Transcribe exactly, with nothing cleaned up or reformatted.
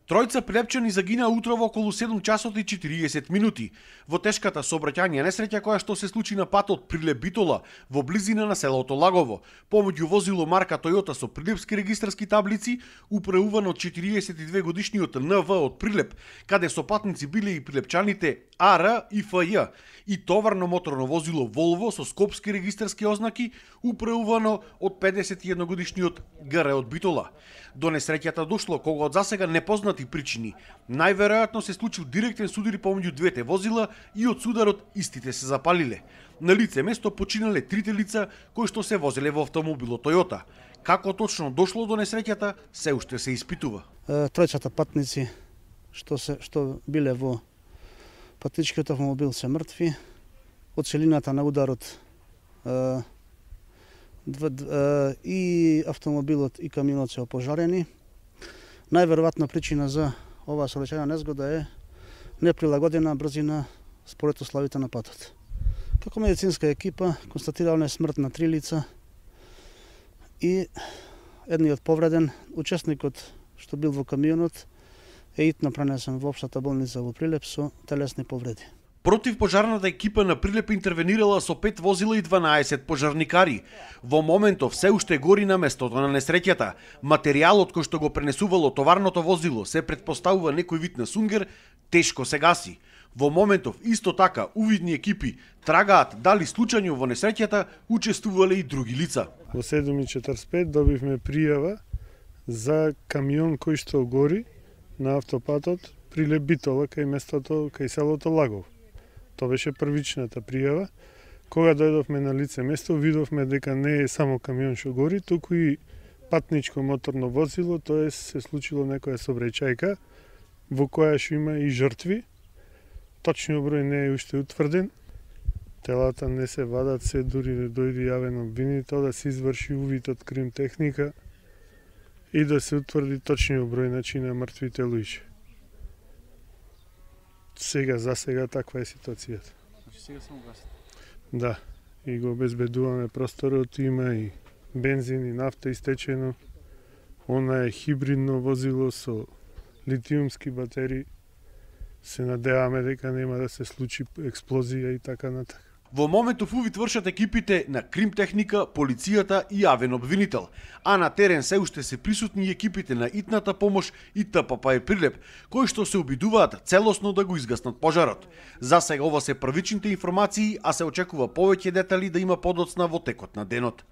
Тројца прилепчани загинаа утрово околу седум часот и четириесет минути во тешката сообраќајна несреќа која што се случи на патот Прилеп-Битола во близина на селото Лагово, помеѓу возило марка Тојота со прилепски регистарски таблици, управувано од четириесет и две годишниот Н В од Прилеп, каде со патници биле и прилепчаните А Р и Ф Ј, и товарно моторно возило Волво со скопски регистарски ознаки, управувано од педесет и едно годишниот Г Р од Битола. До несреќата дошло кога од засега непознати причини. Најверојатно се случил директен судир помеѓу двете возила и од сударот истите се запалиле. На лице место починале трите лица кои што се возеле во автомобилот Тојота. Како точно дошло до несреќата, се уште се испитува. Тројцата патници што се што биле во патничкиот автомобил се мртви. Од силината на ударот е, е, и автомобилот и камионот се опожарени. Најверојатна причина за оваа сообраќајна незгода е неприлагодена брзина според условите на патот. Како медицинска екипа констатирале смрт на три лица и едниот повреден, учесникот што бил во камионот, е итно пренесен во општата болница во Прилеп со телесни повреди. Противпожарната екипа на Прилеп интервенирала со пет возила и дванаесет пожарникари. Во моментов се уште гори на местото на несреќата. Материјалот кој што го пренесувало товарното возило, се претпоставува некој вид на сунгер, тешко се гаси. Во моментов исто така увидни екипи трагаат дали случајно во несреќата учествувале и други лица. Во седум и четрдесет и пет добивме пријава за камион кој што гори на автопатот Прилеп-Битола кај местото, кај селото Лагово. Тоа беше првичната пријава. Кога дојдовме на лице место, видовме дека не е само камион што гори, туку и патничко моторно возило, тоа се случило некоја сообраќајка во која што има и жртви. Точниот број не е уште утврден. Телата не се вадат, се дури да дојде јавен обвинител да се изврши увид од крим техника и да се утврди точниот број значи на мртвите луѓе. Сега, за сега, таква е ситуацијата. Значи сега само гасите? Да, и го обезбедуваме просторот, има и бензин и нафта истечено. Она е хибридно возило со литиумски батерии. Се надеваме дека нема да се случи експлозија и така натака. Во моментов увид вршат екипите на крим техника, полицијата и јавен обвинител, а на терен се уште се присутни и екипите на итната помош и Т П П Прилеп, кои што се обидуваат целосно да го изгаснат пожарот. За сега ова се првичните информации, а се очекува повеќе детали да има подоцна во текот на денот.